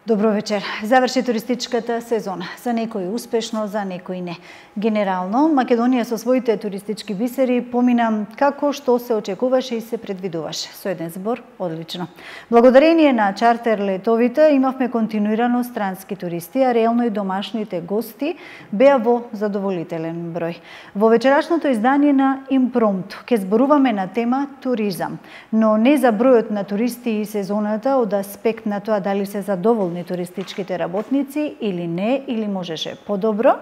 Добро вечер. Заврши туристичката сезона. За некои успешно, за некои не. Генерално, Македонија со своите туристички бисери помина како што се очекуваше и се предвидуваше. Со еден збор, одлично. Благодарение на чартер летовите имавме континуирано странски туристи, а реално и домашните гости беа во задоволителен број. Во вечерашното издание на Импромту ќе зборуваме на тема туризам, но не за бројот на туристи и сезоната од аспект на тоа дали се задоволни туристичките работници или не, или можеше подобро.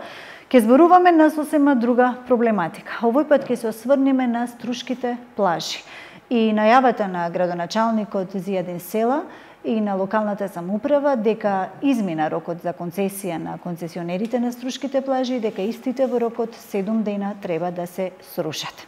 Ќе зборуваме на сосема друга проблематика. Овој пат ќе се осврнеме на Струшките плажи и најавата на градоначалникот Зијадин Села и на локалната самоуправа дека измина рокот за концесија на концесионерите на Струшките плажи и дека истите во рокот 7 дена треба да се срушат.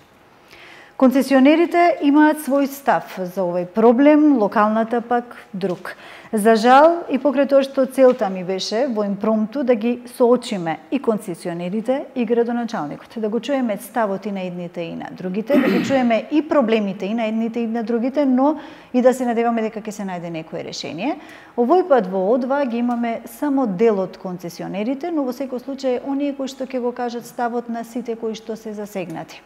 Концесионерите имаат свој став за овој проблем, локалната пак друг. За жал, и покрај тоа што целта ми беше во Импромту да ги соочиме и концесионерите и градоначалникот, да го чуеме ставот и на едните и на другите, да ги чуеме и проблемите и на едните и на другите, но и да се надеваме дека ќе се најде некое решение. Овој пат во О2 ги имаме само дел од концесионерите, но во секој случај оние кои што ќе го кажат ставот на сите кои што се засегнати.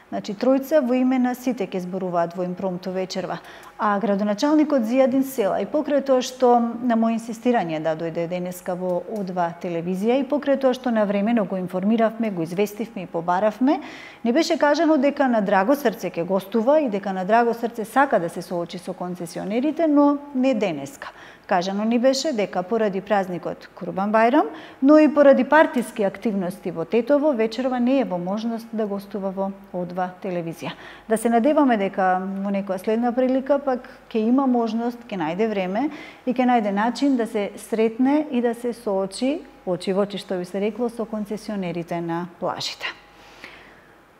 Значи, тројца во име на сите ќе зборуваат во Импромту вечерва. А градоначалникот Зијадин Села, и покрај тоа што на мој инсистирање да дојде денеска во О2 телевизија, и покрај тоа што навремено го информиравме, го известивме и побаравме, не беше кажано дека на драго срце ќе гостува и дека на драго срце сака да се соочи со концесионерите, но не денеска. Кажано ни беше дека поради празникот Курбан Бајрам, но и поради партиски активности во Тетово, вечерва не е во можност да гостува во О2 телевизија. Да се надеваме дека во некоја следна прилика пак ќе има можност, ќе најде време и ќе најде начин да се сретне и да се соочи очи во очи, што би се рекло, со концесионерите на плажите.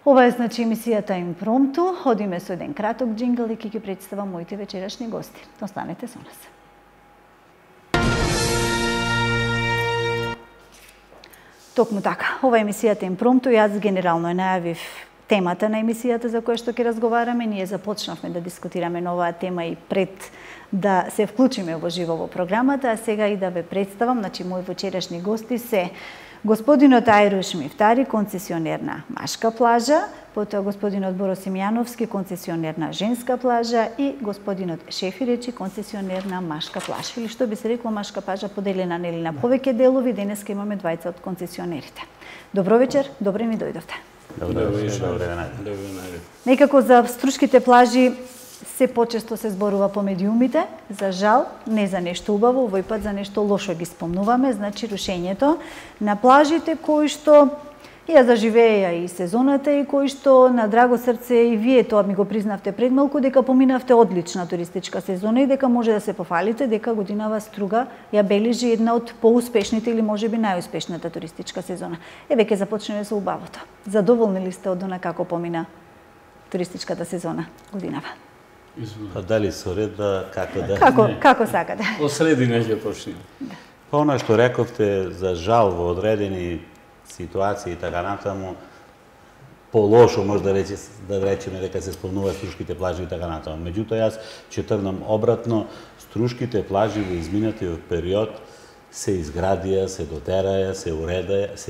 Ова е значи емисијата Импромту. Одиме со еден краток џингл и ќе ги представам моите вечерашни гости. Останете со нас. Токму така, ова е емисијата Импромту. Јас генерално најавив темата на емисијата за која што ќе разговараме. Ние започнавме да дискутираме на оваа тема и пред да се вклучиме во живо во програмата, а сега и да ве представам, значи мои вечерашни гости се господинот Ајруш Мифтари, концесионер на Машка плажа, потоа господинот Боро Симјановски, концесионер на Женска плажа и господинот Шефиречи, концесионер на Машка плажа. Или што би се рекло Машка плажа поделена нели на повеќе делови, денеска имаме двајца од концесионерите. Добро вечер, добре ми дојдовте. Добро вечер. Некако за Струшките плажи се почесто се зборува по медиумите, за жал, не за нешто убаво, овој пат за нешто лошо ги спомнуваме, значи рушењето на плажите кои што ја заживеја и сезоната и кои што на драго срце и вие тоа ми го признавте пред малку дека поминавте одлична туристичка сезона и дека може да се пофалите дека годинава Струга ја бележи една од поуспешните или можеби најуспешната туристичка сезона. Еве ќе започнеме со убавото. Задоволни ли сте од она како помина туристичката сезона годинава? Па дали со ред да како да? Како сакате? Од средина ќе почнеме. Па она што рековте за жал во одредени ситуации и така натаму, полошо може да речеме дека се спомнува Струшките плажи и така натаму. Меѓутоа јас ќе тргнам обратно, Струшките плажи во изминатиот период се изградија, се дотераја, се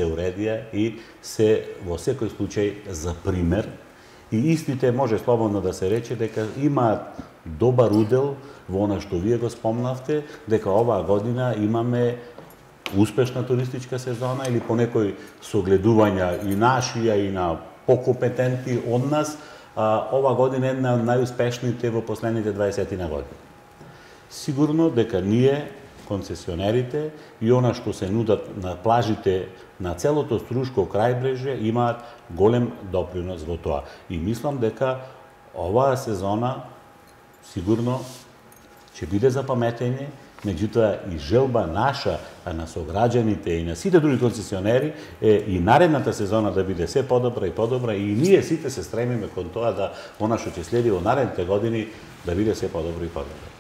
уредија и се во секој случај за пример. И истите може слободно да се рече дека имаат добар удел во она што вие го спомнавте, дека оваа година имаме успешна туристичка сезона или по некои согледувања и нашија и на покомпетентни од нас, ова година е една од најуспешните во последните 20 на години. Сигурно дека ние, концесионерите и она што се нудат на плажите на целото Струшко крајбрежје имаат голем допринос во тоа. И мислам дека оваа сезона сигурно ќе биде запаметење, меѓутоа и желба наша, а на сограѓаните и на сите други концесионери е и наредната сезона да биде се подобра и подобра и ние сите се стремиме кон тоа да она што ќе следи во наредните години да биде се подобро и подобро.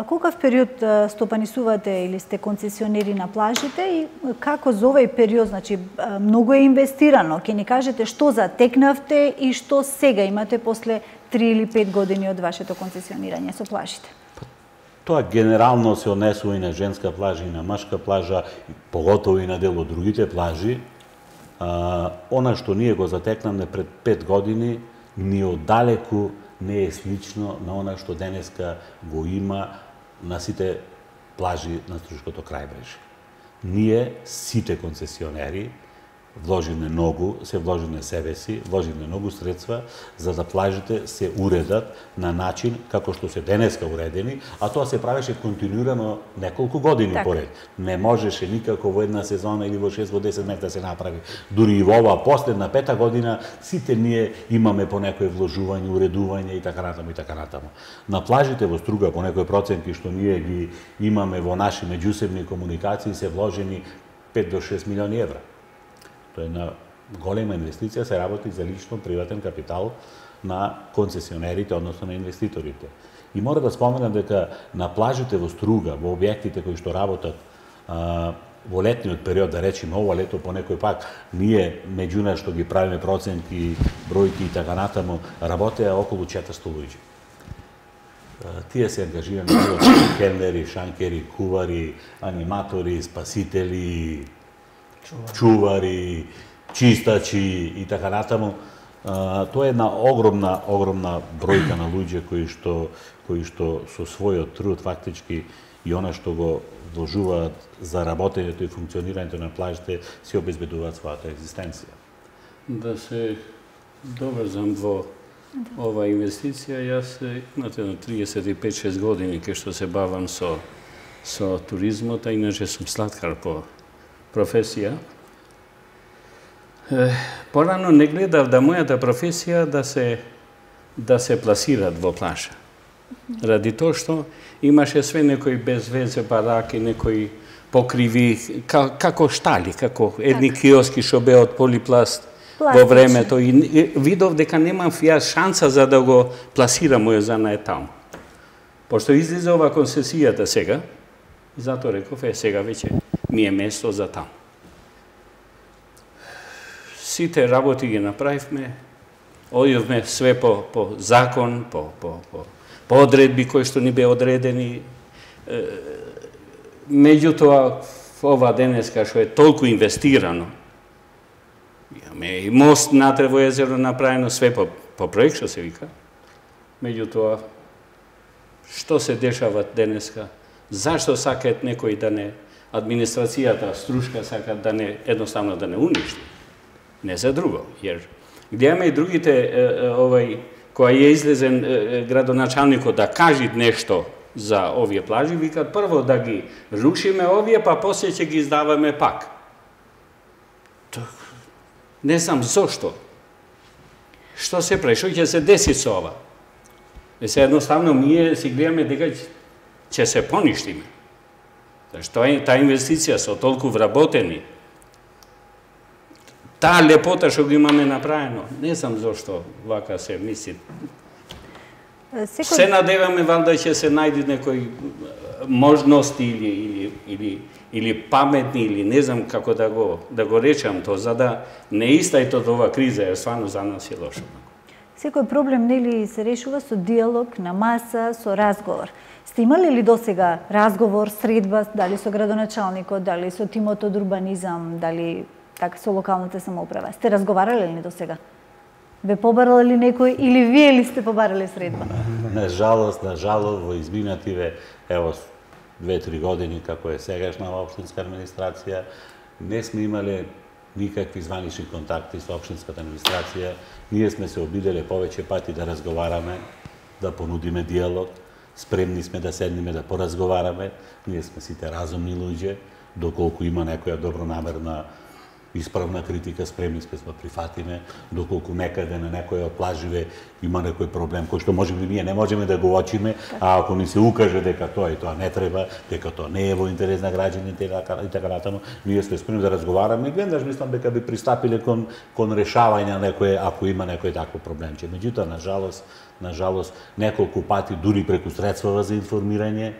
Колкав период стопанисувате или сте концесионери на плажите и како за овој период, значи многу е инвестирано, ќе ни кажете што затекнавте и што сега имате после 3 или 5 години од вашето концесионирање со плажите? Тоа генерално се однесува и на женска плажа и на машка плажа, поготово и на дел од другите плажи. Она што ние го затекнаме пред 5 години, ни оддалеку не е слично на она што денеска го има на сите плажи на Струшкото крајбрежје. Ние, сите концесионери, вложиме многу, се вложиме себе си, вложиме многу средства за да плажите се уредат на начин како што се денеска уредени, а тоа се правеше континуирано неколку години поред. Не можеше никако во една сезона или во 6 во 10 месеци да се направи. Дури и во оваа последна 5-та година сите ние имаме по некој вложување, уредување и така натаму и така натаму. На плажите во Струга по некои проценти што ние ги имаме во наши меѓусебни комуникации се вложени 5 до 6 милиони евра. Тоа е една голема инвестиција, се работи за лично приватен капитал на концесионерите, односно на инвеститорите. И мора да споменам дека на плажите во Струга, во објектите кои што работат во летниот период, да речеме ова лето по некој пак, ние меѓу нас што ги правиме проценти, бројки и така натаму, работеа околу 400 луѓе. Тие се ангажирани од келнери, шанкери, кувари, аниматори, спасители, чувари, чистачи и така натаму. Тоа е една огромна бројка на луѓе кои што со својот труд фактички и она што го вложуваат за работењето и функционирањето на плажите се обезбедуваат својата екзистенција. Да се доврзам во ова инвестиција, јас имате на 35-6 години кај што се бавам со туризмот, а иначе сум сладкар по професија. Порано не гледав да мојата професија да се пласират во плажа. Ради тоа што имаше све некои безвезе бараки, некои покриви, како штали, како едни киоски што беа од полипласт во времето. И видов дека немам јас шанса за да го пласирам мојот занает таму. Пошто излезе ова концесијата сега, затоа реков, сега веќе ми е место за таму. Сите работи ги направивме, одивме све по закон, по одредби кои што ни беа одредени. Меѓутоа, ова денеска што е толку инвестирано, имаме и мост натре во езеро направено, све по проект што се вика. Меѓутоа, што се дешава денеска? Зашто сакаат некои да не, администрацијата Струшка сакаат да не, едноставно да не уништи? Не за друго, jer гледаме и другите, која е излезен градоначалникот да кажи нешто за овие плажи, викат прво да ги рушиме овие, па после ќе ги издаваме пак. Не знам зошто. Што се прави, што ќе се деси со ова? Се едноставно ние си гледаме дека ќе се поништиме. Зашто таа инвестиција со толку вработени, таа лепота што го имаме направено, не знам зошто вака се мисли. Се надеваме валда ќе се најде некои можности или паметни, или не знам како да го речам тоа, за да не истајте од ова криза, е стварно за нас е лошо. Секој проблем нели се решува со диалог, на маса, со разговор. Сте имали ли досега разговор, средба, дали со градоначалникот, дали со тимот од урбанизам, дали така со локалната самоуправа? Сте разговарале ли досега? Ве побарал ли некој или вие ли сте побарале средба? На жалост, во изминативе, ево, 2-3 години како е сегашна општинска администрација, не сме имале никакви званични контакти со општинската администрација. Ние сме се обиделе повеќе пати да разговараме, да понудиме диалог, спремни сме да седниме да поразговараме. Ние сме сите разумни луѓе, доколку има некоја добронамерна исправна критика, спремни сме да прифатиме, доколку некаде на некој од плаживе има некој проблем кој што можеби ние не можеме да го очиме, а ако ни се укаже дека тоа и тоа не треба, дека тоа не е во интерес на граѓаните и така натаму, ние сме спремни да разговараме и веднаш мислам дека би пристапиле кон решавање на некој, ако има некој таков проблемче. Меѓутоа, на жалост, неколку пати дури преку средствава за информирање,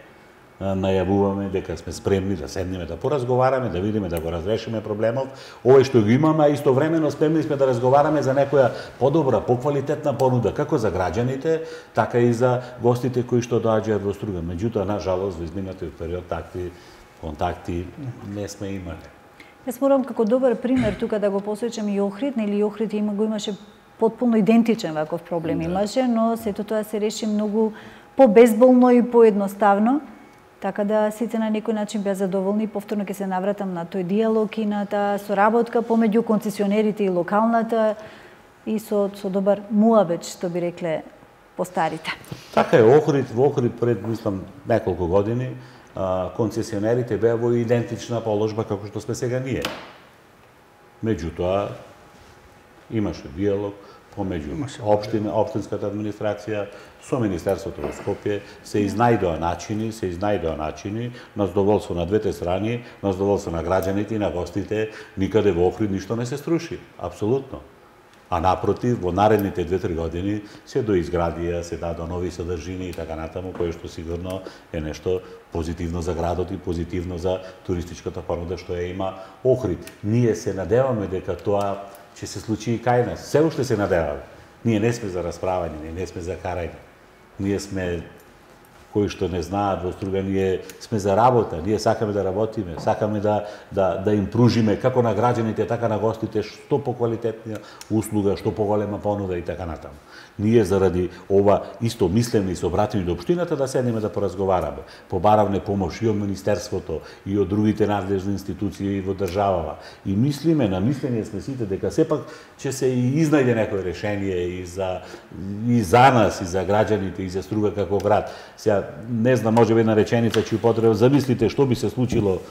најавуваме дека сме спремни да седнеме, да поразговараме, да видиме, да го разрешиме проблемов. Овој што го имаме, а истовремено спремни сме да разговараме за некоја подобра, поквалитетна понуда, како за граѓаните, така и за гостите кои што доаѓаат во Струга. Меѓутоа, на жалост, во изминатиот период такви контакти не сме имали. Јас морам како добар пример тука да го посочам и Охрид, нели Охрид го имаше потполно идентичен ваков проблем имаше, но сето тоа се реши многу побезболно и поедноставно, така да сите на некој начин беа задоволни. Повторно ќе се навратам на тој диалог и на таа соработка помеѓу концесионерите и локалната и со добар муабет, што би рекле постарите. Така е, во Охрид пред, мислам, неколку години, концесионерите беа во идентична положба како што сме сега ние. Меѓутоа, имаше диалог помеѓу општинската администрација со Министерството во Скопје, се изнајдоа начини на задоволство на двете страни, на задоволство на граѓаните и на гостите. Никаде во Охрид ништо не се струши, апсолутно. А напротив, во наредните 2-3 години се доизградија, се дадоа нови содржини и така натаму, кое што сигурно е нешто позитивно за градот и позитивно за туристичката понуда што ја има Охрид. Ние се надеваме дека тоа ќе се случи и кај нас. Се уште се надеваме. Ние не сме за расправање, ние не сме за карање. Ние сме, кои што не знаат во Струга, ние сме за работа, ние сакаме да работиме, сакаме да им пружиме како на граѓаните, така на гостите што поквалитетна услуга, што поголема понуда и така натаму. Ние заради ова исто мислеме и се обратиме до општината да седнеме да поразговараме. Побаравме помош и од Министерството, и од другите надлежни институции во државава. И мислиме, намислени сме сите дека сепак ќе се и изнајде некој решение и за нас, и за граѓаните, и за Струга како град. Сега, не знам, може би една реченица ќе употребам, замислите што би се случило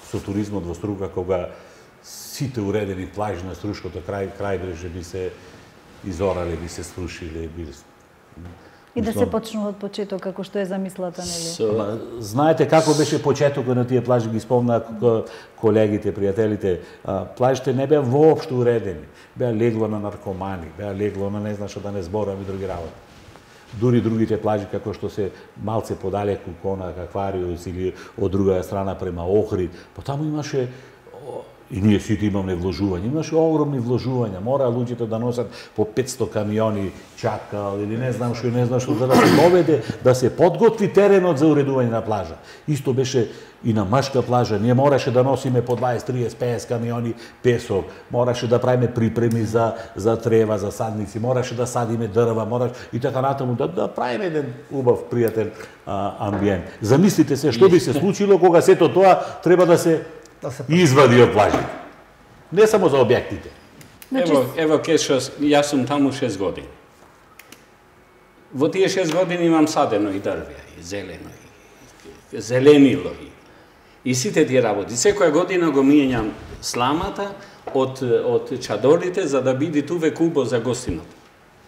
со туризмот во Струга кога сите уредени плажи на Струшкото крајбрежје би се изорали, би се срушили, и да се почнува од почеток како што е замислата, нели? Знаете како беше почетокот на тие плажи, ги спомнаа колегите, пријателите. Плажите не беа воопшто уредени. Беа легло на наркомани, беа легло на не знам што да не зборам и други работи. Дури другите плажи како што се малце подалеку Конак, Аквариус или од друга страна према Охрид, таму имаше и ние сите имаме вложување. Имаше огромни вложувања. Мора луѓето да носат по 500 камиони чакал или не знам што за да се доведе, да се подготви теренот за уредување на плажа. Исто беше и на Машка плажа. Ние мораше да носиме по 20, 30, 50 камиони песок. Мораше да правиме припреми за трева, за садници. Мораше да садиме дрва, мораше и така натаму да правиме еден убав, пријатен амбиент. Замислите се што би се случило кога сето тоа треба да се извади од плажите. Не само за објектите. Ево јас сум таму 6 години. Во тие 6 години имам садено и дрвја, и зелено, и зеленило, и сите тие работи. Секоја година го мијањам сламата од чадорите за да биде туве убо за гостинот.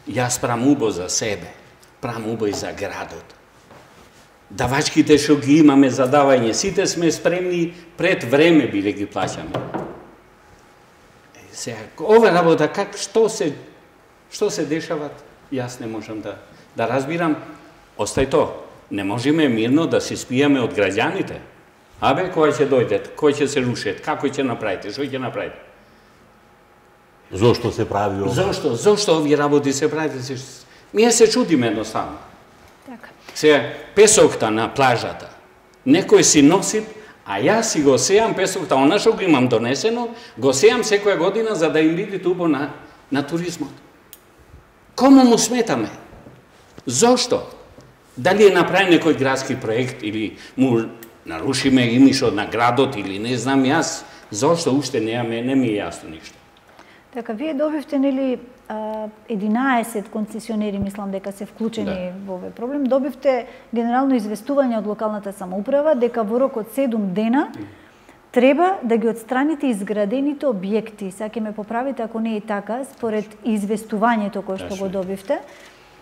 Јас правам убо за себе, правам убо и за градот. Давачките што ги имаме за давање, сите сме спремни пред време биле ги плаќаме. Сега, ова работа, што се дешават, јас не можам да разбирам. Остај то, не можеме мирно да се спијаме од граѓаните. Абе, кој ќе дојдат, кој ќе се рушат, како ќе направите, што ќе направите? Зошто се прави ова? Зошто овие работи се правите? Ние се чудиме едноставно. Така. Сега, песокта на плажата, некој си носи, а јас си го сејам песокта, она што го имам донесено, го сејам секоја година за да им биде убаво на туризмот. Кому му сметаме? Зошто? Дали е направен некој градски проект или му нарушиме имиджот на градот или не знам јас, зошто уште не ми е јасно ништо. Така, вие добивте, нели, 11 концесионери, мислам дека се вклучени во овој проблем, добивте генерално известување од локалната самоуправа дека во рок од 7 дена треба да ги отстраните изградените објекти. Сега ќе ме поправите ако не е така, според известувањето кое што го добивте.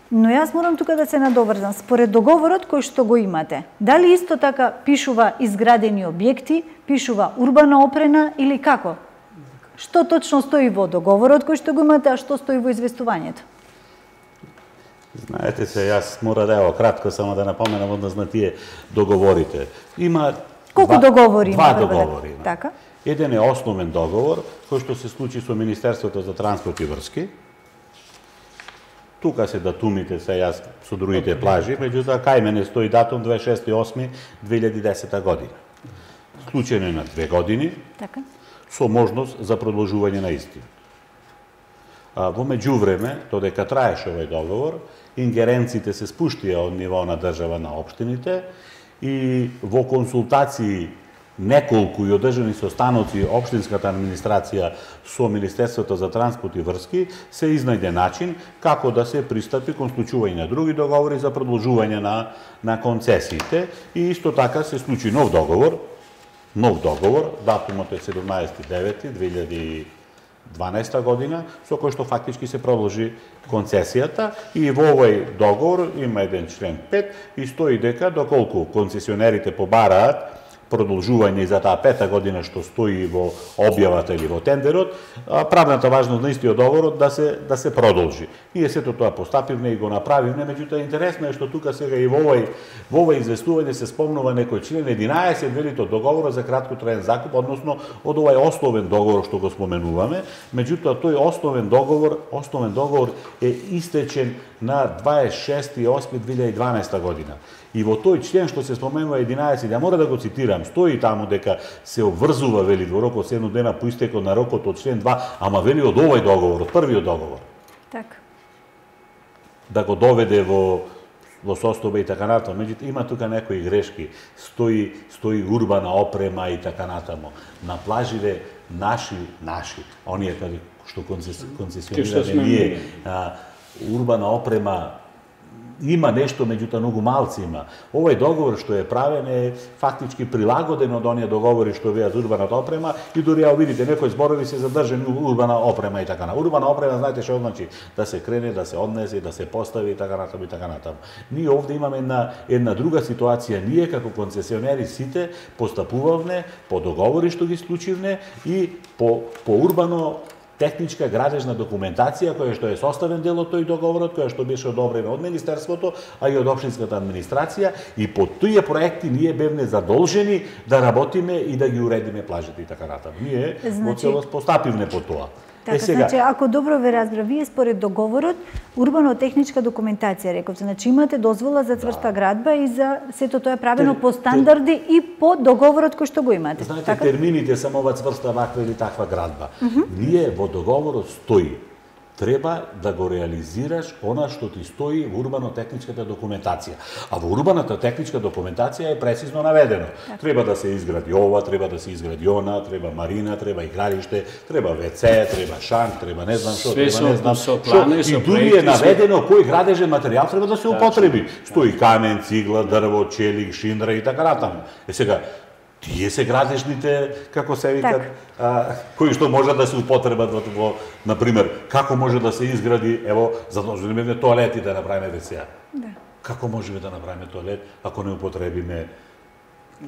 Но јас морам тука да се надоврзам. Според договорот кој што го имате, дали исто така пишува изградени објекти, пишува урбана опрена или како? Што точно стои во договорот кој што го имате, а што стои во известувањето? Знаете се, јас мора да кратко само да напоменам однос на тие договорите. Има колку договори има? Два договори. Така. Еден е основен договор кој што се случи со Министерството за транспорт и врски. Тука се датумите се јас со другите плажи, меѓутоа кај мене стои датум 26.8.2010 година. Склучено е на 2 години, Така. со можност за продолжување на истиот. Во меѓувреме, додека траеше овој договор, ингеренциите се спуштија од ниво на држава на општините и во консултации неколку и одржани состаноци општинската администрација со Министерството за транспорт и врски се изнајде начин како да се пристапи кон склучување на други договори за продолжување на концесиите и исто така се случи нов договор, датумот е 17.9.2012 година, со кој што фактички се продолжи концесијата и во овој договор има еден член 5 и стои дека доколку концесионерите побараат продолжување за таа 5-та година што стои во објавата или во тендерот, правната важност на истиот договорот да се продолжи. Ние сето тоа постапивме и го направивме, меѓутоа интересно е што тука сега и во овој известување се спомнува некој член 11 велит од договорот за краткотраен закуп, односно од овој основен договор што го споменуваме, меѓутоа тој основен договор е истечен на 26.8.2012 година. И во тој член што се споменува 11, ја мора да го цитирам, стои таму дека се обврзува, вели, во рок од 7 дена по истекот на рокот од член 2, ама вели од овој договор, од првиот договор. Така. Да го доведе во состојба и така натаму. Меѓутоа има тука некои грешки. Стои урбана опрема и така натаму. На плаживе наши, оние што концесионираме ние, урбана опрема има нешто, меѓутоа многу малци има. Овој договор што е правен е фактички прилагоден од оние договори што веа за урбаната опрема и дури ја видите некои зборови се задржани урбана опрема и така на. Урбана опрема знаете што значи да се крене, да се однесе, да се постави и така натаму и така натаму. Ние овде имаме една друга ситуација. Ние како концесионери сите постапувавме по договори што ги склучивме и по урбано техничка градежна документација која што е составен дел од тој договорот, која што беше одобрена од Министерството, а и од општинската администрација и по тие проекти ние бевме задолжени да работиме и да ги уредиме плажите и така натаму. Ние во целост постапивме по тоа. Така, значи, ако добро ве разбра, вие според договорот, урбано-техничка документација, рековте, значи имате дозвола за цврста градба и за сето тоа е правено по стандарди и по договорот кој што го имате. Знаете, така? термините само ова цврста ваква или таква градба. Ние во договорот стои треба да го реализираш она што ти стои во урбано-техничката документација. А во урбаната техничка документација е прецизно наведено. Так. Треба да се изгради ова, треба да се изгради она, треба марина, треба игралиште, треба ВЦ, треба шанк, треба не знам што, треба не знам што. И дури е наведено кој градежен материјал треба да се употреби. Стои камен, цигла, дрво, челик, шиндра и така натаму. Сега тие се градежните, како се викат, кои што може да се употребат во, например, како може да се изгради, ево, задолжуваме тоалети да направиме ВЦ. Да. Како можеме да направиме тоалет ако не употребиме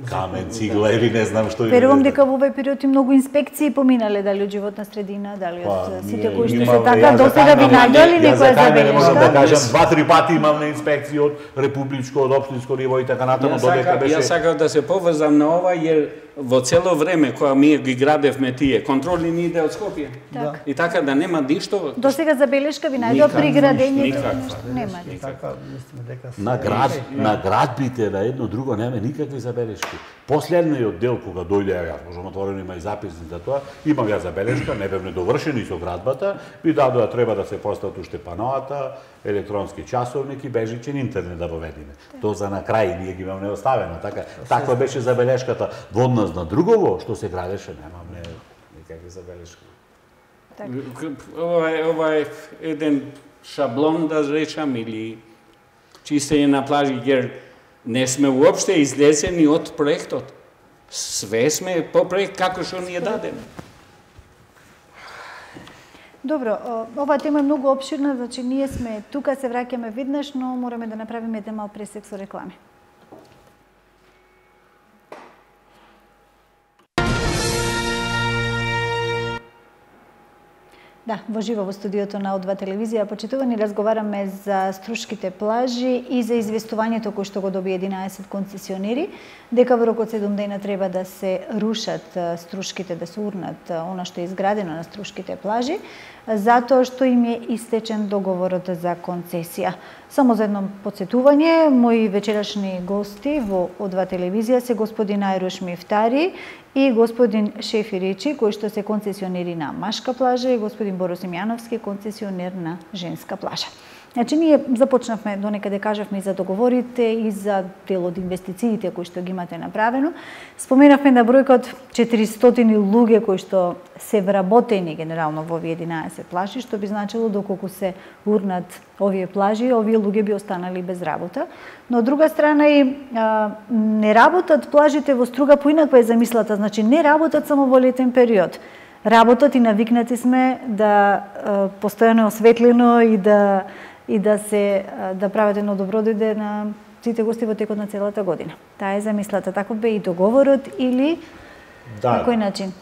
камен, цигла или не знам што. Верувам дека во овој период и многу инспекции поминале, дали од животна средина, дали од сите кои што се така, досега ви најдоли некоја забелешка? Можам да кажам, 2-3 пати имаме инспекции од републичко, од општинско ниво и така натаму, додека беше. Јас сакав да се поврзам на ова, jer во цело време кога ние ги градевме тие, контроли ни иде од Скопје. Так. И така да нема ништо. Досега забелешка ви најдоа при градењето? Нема. Така, мислиме дека на градбите, на едно друго нема никакви забелешки. Последниот дел кога дојде, јас можам отворено има и записни за тоа, имам ја забелешка, не бевме довршени со градбата, ви дадоа треба да се постават уште паноата, електронски часовник и бежичен интернет да воведиме. Тоа за на крај ние ги имаме оставено, така. Таква беше забелешката. Во однос на другово што се градеше, немаме никакви забелешки. Ова е еден шаблон да речам или чистење на плажи, jer не сме уопште излезени од проектот. Све сме по проект како што ни е дадено. Добро, оваа тема е многу опширна, значи ние сме тука, се враќаме веднаш, но мораме да направиме еден мал пресек со реклами. Да, во живо во студиото на О2 телевизија почитувани разговараме за струшките плажи и за известувањето кој што го доби 11 концесионери, дека во рок од 7 дена треба да се рушат струшките, да се урнат она што е изградено на струшките плажи, затоа што им е истечен договорот за концесија. Само за едно подсетување, мои вечерашни гости во О2 телевизија се господин Ајруш Мифтари и господин Шефи Речи, кои што се концесионери на машка плажа, и господин Боро Симјановски, концесионер на женска плажа. Значи, ние започнавме, донекаде кажавме и за договорите и за дел од инвестициите кои што ги имате направено. Споменавме на бројка од 400 луѓе кои што се вработени генерално во овие 11 плажи, што би значило доколку се урнат овие плажи, овие луѓе би останали без работа. Но од друга страна и не работат плажите во Струга, поинаква е замислата, значи не работат само во летен период. Работат и навикнати сме да постојано е осветлено и да прават едно добро дојде на сите гости во текот на целата година. Таа е замислата. Таков бе и договорот или на кој начин?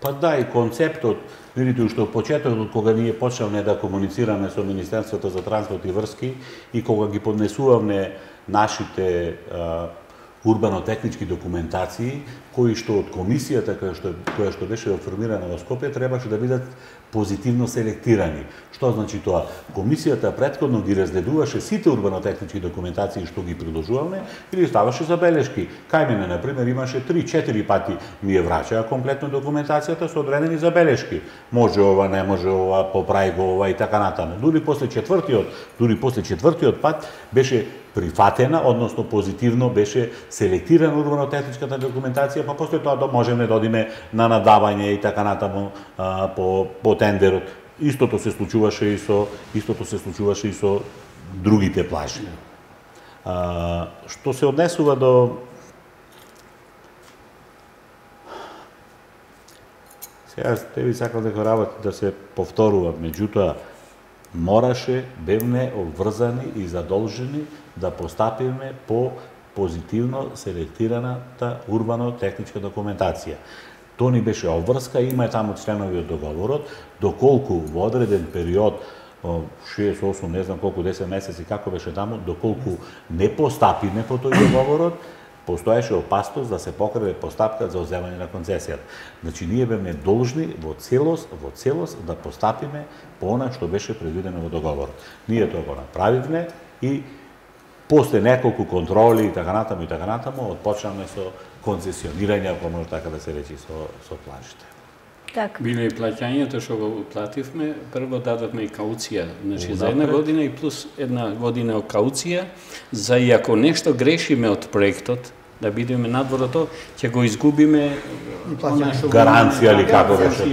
Па да, и концептот, видите, уште од почетокот кога ние почнавме да комуницираме со Министерството за транспорт и врски и кога ги поднесувавме нашите урбано-технички документации, кои што од комисијата која што беше формирана во Скопје требаше да бидат позитивно селектирани. Што значи тоа? Комисијата претходно ги разгледуваше сите урбано-технички документации што ги приложуваме или ставаше забелешки. Кај мене, например, имаше 3-4 пати ми ја врачаа комплетно документацијата со одредени забелешки. Може ова, не може ова, поправи го ова и така натаму. Дури после четвртиот пат беше прифатена, односно позитивно беше селектирана урбано-техничката документација, па после тоа можеме да одиме на надавање и така натаму по тендерот. Истото се случуваше и со другите плажи. Што се однесува до сега ви сакам дека работа да се повторува, меѓутоа бевме обврзани и задолжени да постапиме по позитивно селектираната урбано-техничка документација. Тоа ни беше обврска, има таму членови од договорот, доколку во одреден период, 6-8, не знам колку, 10 месеци, како беше таму, доколку не постапиме по тој договорот, постоеше опасност да се покраде постапка за одземање на концесијата. Значи, ние бевме должни во целост да постапиме по она што беше предвидено во договорот. Ние тоа го направивме и после неколку контроли и така натаму, отпочнавме со концесионирање, ако може така да се речи, со плажите. Так. Биле и плаќањето што го плативме, прво дадовме и кауција, значи за една година и плюс една година кауција, за и ако нешто грешиме од проектот, да бидеме надвор од тоа, ќе го изгубиме гаранција или како беше.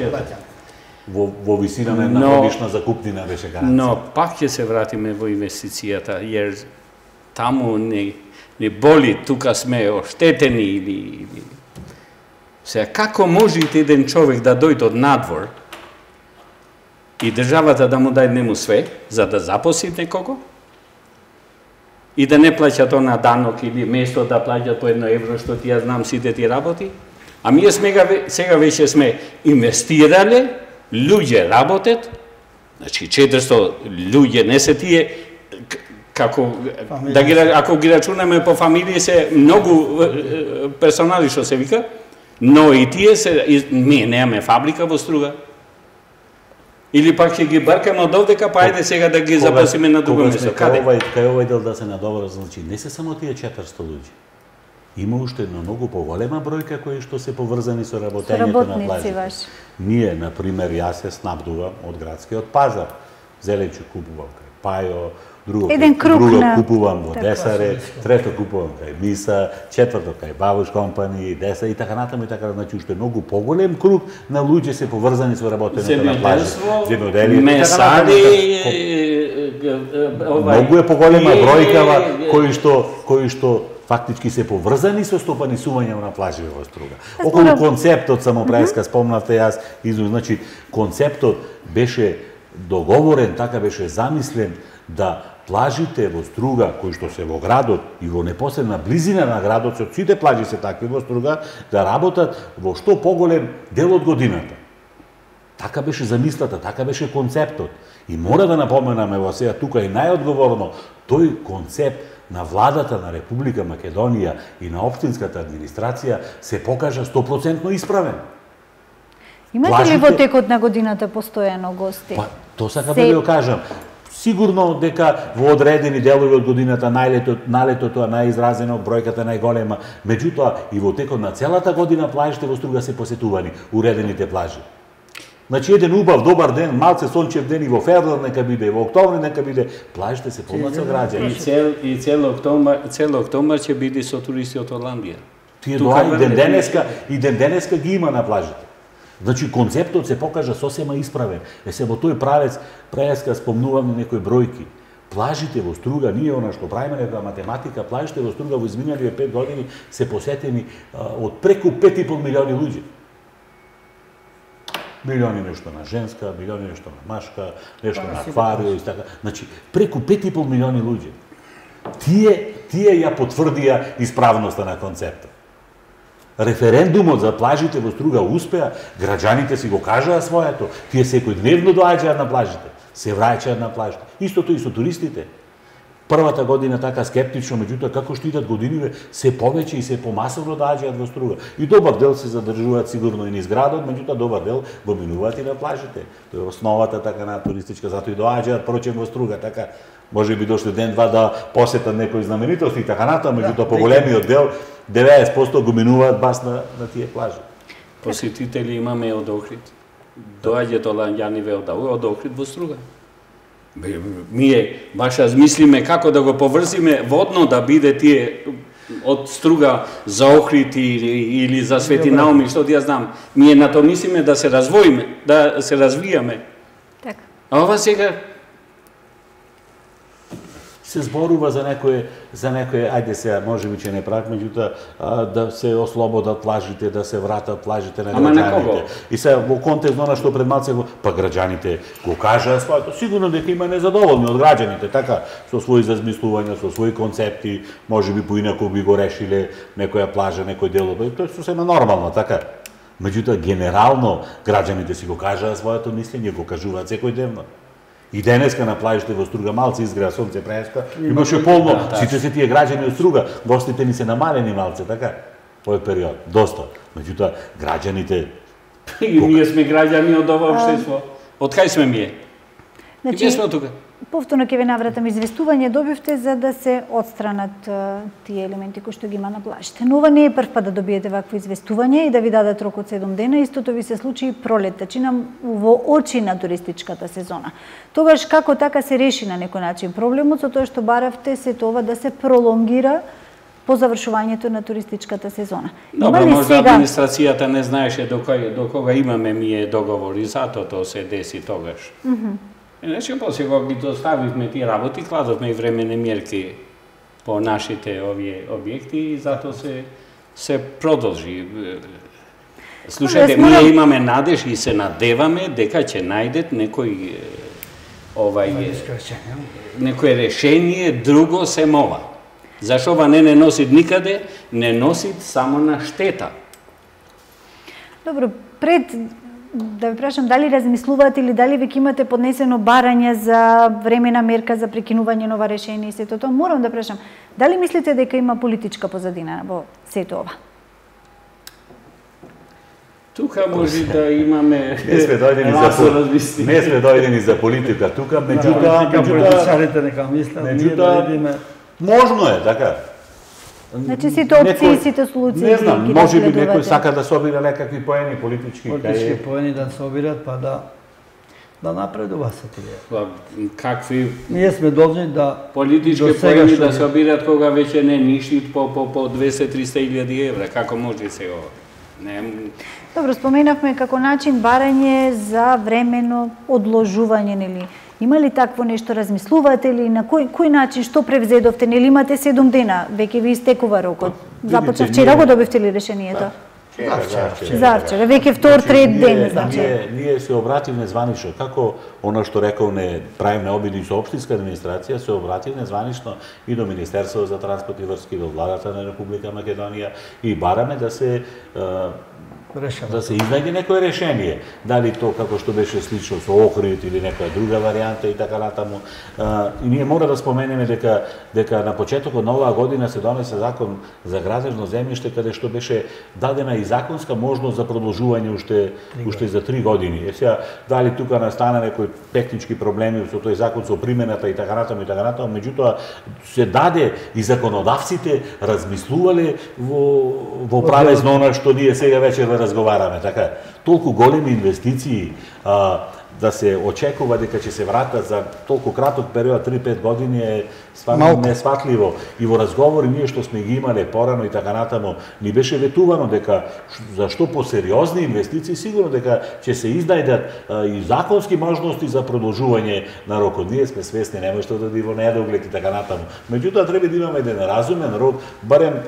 Во висина на една годишна закупнина беше гаранција. Но пак ќе се вратиме во инвестицијата, jer таму не боли, тука сме оштетени или сега, како може еден човек да дојде од надвор и државата да му даде нему све, за да запосли некого, и да не плаќа тоа на данок или место да плаќат по €1, што ти ја знам сите ти работи? А ние сега веќе сме инвестирале, луѓе работат, значи 400 луѓе, не се тие, како, ако ги рачунаме по фамилии, се многу персонали што се вика, но и тие ние немаме фабрика во Струга. Или пак ќе ги баркаме од овдека, па ајде сега да ги запасиме на друго место. Каде? Кај овој дел да се надобра, значи не се само тие 400 луѓе. Има уште една многу поголема бројка кои што се поврзани со работењето на плажите. Ние, например, јас се снабдувам од градскиот пазар. Зеленчук купувам кај Пајо, друго купувам во Десаре, трето купувам кај Миса, четврто кај Бабуш компани, Деса и така натаму и така, значи уште многу поголем круг на луѓе се поврзани со работењето на плажите. Земјоделство, месари, многу е поголема бројкава кои што фактички се поврзани со стопанисување на плажи во Струга. Околу концептот само преска спомнавте, јас значи концептот беше договорен, така беше замислен да плажите во Струга, кои што се во градот и во непосредна близина на градот, со сите плажи се такви во Струга, да работат во што поголем дел од годината. Така беше замислата, така беше концептот. И мора да напоменаме во сега тука и најодговорно, тој концепт на владата на Република Македонија и на општинската администрација се покажа 100% исправен. Имате ли во текот на годината постојано гости? Па, то сакам да ви кажам. Сигурно дека во одредени делови од годината налетото е најизразено, бројката најголема, меѓутоа и во текот на целата година плажите во Струга се посетувани, уредените плажи. Значи еден убав добар ден, малце сончев ден и во февруар нека биде, и во октомври нека биде, плажите се полнат со граѓани. И цел октомбар ќе биде со туристи од Оландија. Тие доаѓаат и ден денеска ги има на плажите. Значи концептот се покажа сосема исправен. Се во тој правец преска спомнувам некои бројки. Плажите во Струга, ние она што правиме нека математика, плажите во Струга во изминалите 5 години се посетени од преку 5,5 милиони луѓе. Милиони нешто на женска, милиони нешто на машка, нешто на акварио и така. Значи преку 5,5 милиони луѓе. Тие ја потврдија исправноста на концептот. Референдумот за плажите во Струга успеа, граѓаните си го кажаа своето, тие секојдневно доаѓаат на плажите, се враќаат на плажите. Истото и со туристите. Првата година така скептично, меѓутоа како што идат годиниве, се повеќе и се помасовно доаѓаат во Струга. И добар дел се задржуваат сигурно и низ градот, меѓутоа добар дел го минуваат и на плажите. Тоа е основата така на туристичка, затоа и доаѓаат прочем во Струга, така може би дошле ден-два да посетат некои знаменитости и така натаму, меѓутоа поголемиот дел 90% го минуваат бас на тие плажи. Посетители имаме од Охрид. Доаѓаат оланѓани од Охрид во Струга. Ние баш размислиме како да го поврзиме водно да биде тие од Струга за Охрид или за Свети Науми, што ја знам. Ние на тоа мислиме да се развоиме, да се развијаме. Така. А ова сега се зборува за некој, ајде сега, можеби че не прак, меѓутоа да се ослободат плажите, да се вратат плажите на граѓаните. И сега во контекст на она што пред малце па граѓаните го кажаа своето, сигурно дека има незадоволни од граѓаните, така со своји размислувања, со своји концепти, можеби поинаку би го решиле некоја плажа, некој дел, тоа е сосема нормално, така. Меѓутоа генерално граѓаните си го кажаа своето мислење, го кажуваат секојдневно. И денеска на плажите во Струга малце изгреа сонце преска, имаше полно, сите се тие граѓани од Струга, гостите ни се намалени малце, така, овој период, доста. Меѓутоа, граѓаните... И ние сме граѓани од ова општество. Од кај сме ние? И ние сме од тука. Повторно ќе ве навратам, известување добивте за да се отстранат тие елементи кои што ги има на плажите. Но ова не е прв пат да добиете вакво известување и да ви дадат рок од 7 дена. Истото ви се случи и пролетта, чинам во очи на туристичката сезона. Тогаш како така се реши на некој начин проблемот, со тоа што баравте се тоа да се пролонгира по завршувањето на туристичката сезона. Добро, може администрацијата не знаеше до кога имаме ние договор и затоа тоа се деси тогаш. Иначе после кога ги доставивме тие работи, кладовме и времене мерки по нашите овие објекти и затоа се продолжи. Слушајте, ние имаме надеж и се надеваме дека ќе најдат некој решение друго сем ова. Зашо ова не носи никаде, не носи само на штета. Добро, пред да ви прашам дали размислувате или дали веќе имате поднесено барање за времена мерка за прекинување на ова решение и сето тоа, морам да прашам, дали мислите дека има политичка позадина во сето ова? Тука може да имаме... Не сме дојдени за политика тука, меѓутоа можно е, така. Значи сите опции, сите случаи не знам, може би некој сака да собира некакви поени политички. Политички поени да собират, па да напредува се тие. Какви... Ние сме должни да... Политички поени да собират кога веќе не ништит по 200-300 илјади евра. Како може се ова? Добро, споменавме како начин барање за времено одложување, нели? Има ли такво нешто, размислувате ли, на кој начин, што превзедовте, нели имате 7 дена, веќе ви истекува рокот? Започна вчера го добивте ли решението? Зарчар, веќе втор, трет ден, значи. Ние се обративме званично, како оно што рековме, правиме обиди со општинска администрација, се обративме званично и до Министерството за транспорт и врски, до владата на Република Македонија и бараме да се изнајде некое решение. Дали то како што беше слично со Охрид или некоја друга варијанта и така натаму. И ние мора да споменеме дека на почетокот на оваа година се донесе закон за градежно земјиште каде што беше дадена и законска можност за продолжување уште за 3 години. Сега дали тука настана некои технички проблеми со тој закон, со примената и така натаму, меѓутоа се даде и законодавците размислувале во правезно она што ние сега вечер разговараме, така. Толку големи инвестиции да се очекува дека ќе се вратат за толку краток период, 3-5 години е стварно несватливо. И во разговори ние што сме ги имале порано и така натаму, ни беше ветувано дека зашто по сериозни инвестиции сигурно дека ќе се изнајдат и законски можности за продолжување на рокот. Ние сме свесни, нема што да во недоглед и така натаму. Меѓутоа треба да имаме еден разумен рок, барем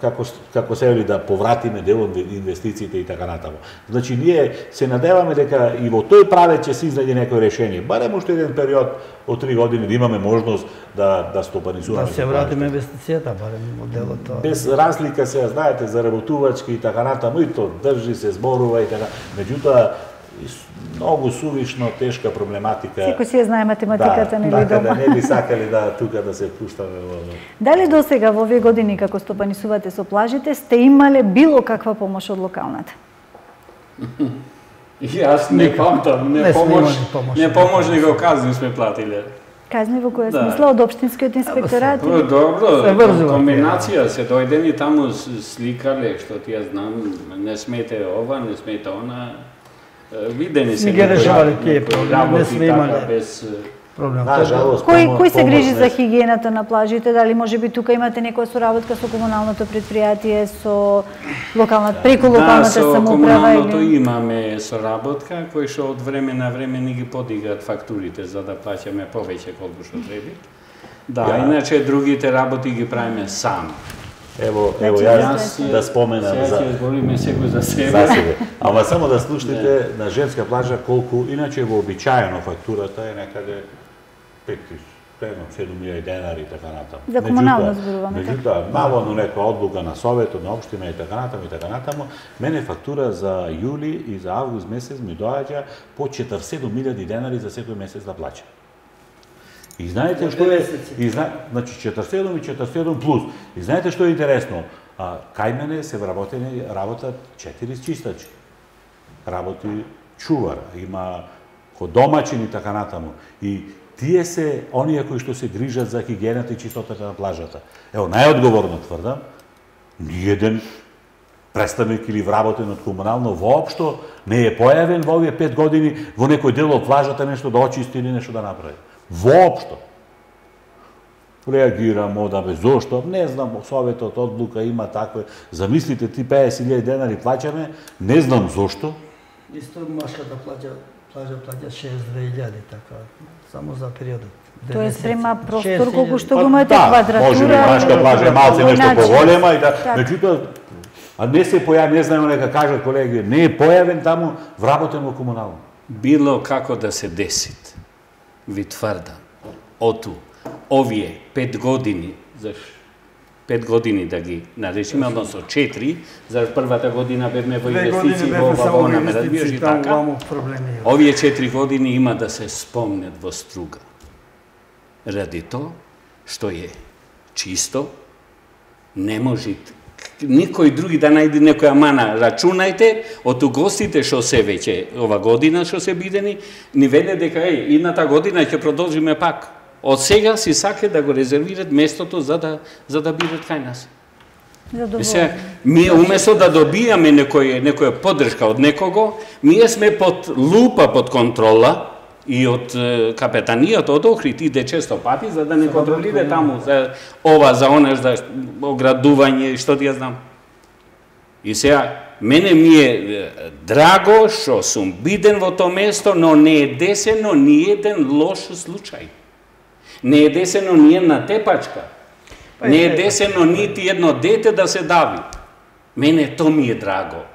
како се вели да повратиме дел од инвестициите и така натаму. Значи ние се надеваме дека и во тој правец ќе се изнајде некој решение. Барем уште еден период од 3 години да имаме можност да стопанизуваме. Да се вратиме инвестицијата, барем моделот тоа. Без разлика се, знаете, за работувачки и така натаму, и то држи се, зборува и така. Меѓутоа многу сувишно, тешка проблематика. Секој си ја знае математиката, нели дома. Да, не би сакали тука да се пуштаме во... Дали досега во овие години како стопанисувате со плажите сте имале било каква помош од локалната? Јас не памтам, не помош, него казни сме платиле. Казни во која смисла од општинскиот инспекторат? Добро, комбинација се дојдени таму сликале, што ти ја знам, не смете ова, не смете она. Видени се некои работи така без проблем. Кој се грижи за хигиената на плажите? Дали можеби тука имате некоја соработка со комуналното предпријатие, со преку локалната самоуправа? Да, со комуналното имаме соработка, кој што од време на време ни ги подигат фактурите за да плаќаме повеќе колку што треба. Да, иначе другите работи ги правиме сами. Ево јас да споменам за ќе збориме секој за себе. Ама само да слушнете на женска плажа колку иначе вообичаено фактурата е некаде 5.000-7.000 денари и така натаму. За комунално зборуваме. Меѓутоа, наводно некоја одлука на советот, на општина и така натаму, мене фактура за јули и за август месец ми доаѓа по 47.000 денари за секој месец да плаќам. И знаете што е, значи 47 и 47 плюс. И знаете што е интересно? Кај мене се работат 4 чистачи. Работи чувар, има домаќин и така натаму. И тие се оние кои што се грижат за хигиената и чистотата на плажата. Ево, најодговорно тврдам, ниеден представник или вработен од комунално воопшто не е појавен во овие 5 години во некој дел од плажата нешто да очисти или нешто да направи. Воопшто. Реагирам одаме, зошто? Не знам, советот одлука има такве. Замислите, ти 50.000 денари плаќаме, не знам зошто. Исто машката плаќа 62.000, така, само за периодот. Тоест према простор колку што го имате квадратура. Може би машка плажа малце нешто поголема и да, меѓутоа, не се појави, не знаеме нека кажат колеги, не е појавен таму вработен во комунално. Било како да се десит. Ви тврдам, овие 5 години, за 5 години да ги наречиме, односно 4, за првата година бевме во инвестиции во ова, ме разбираш и така. Овие 4 години има да се спомнет во струга. Ради тоа што е чисто, не може никој други да најде некоја мана. Рачунајте од гостите што се веќе ова година што се бидени, ни веле дека идната година ќе продолжиме пак. Од сега си саке да го резервират местото за да бидат кај нас. Ние уместо да добијаме некоја поддршка од некого, ние сме под лупа, под контрола и од капетанијата од Охрид иде често пати за да не контролира таму за ова, за онеш, за оградување и што ти ја знам. И сега, мене ми е драго што сум биден во тоа место, но не е десено ни еден лош случај. Не е десено ни една тепачка. Не е десено нити едно дете да се дави. Мене то ми е драго.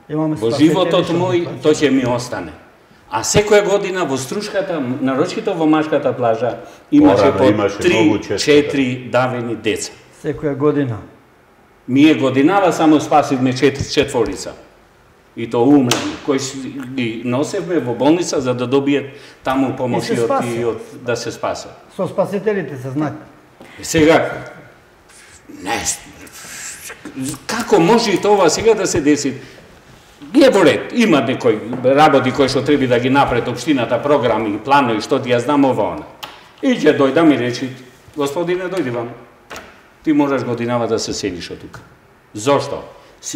Во животот мој, то ќе ми остане. А секоја година во Струшката, нарочито во Машката плажа, имаше по 3-4 давени деца. Секоја година. Ние годинава само спасивме 4 и то умрени, кои ги носевме во болница за да добијат таму помоши да се спасат. Со спасителите се знаат. Сега, како може тоа сега да се деси? Е во ред, има некои работи кои што треба да ги напред општината, програми, планови, што ти ја знам ова она. И ќе дојдам и речи, господине, дојди вам. Ти можеш годинава да се селиш од тука. Зошто?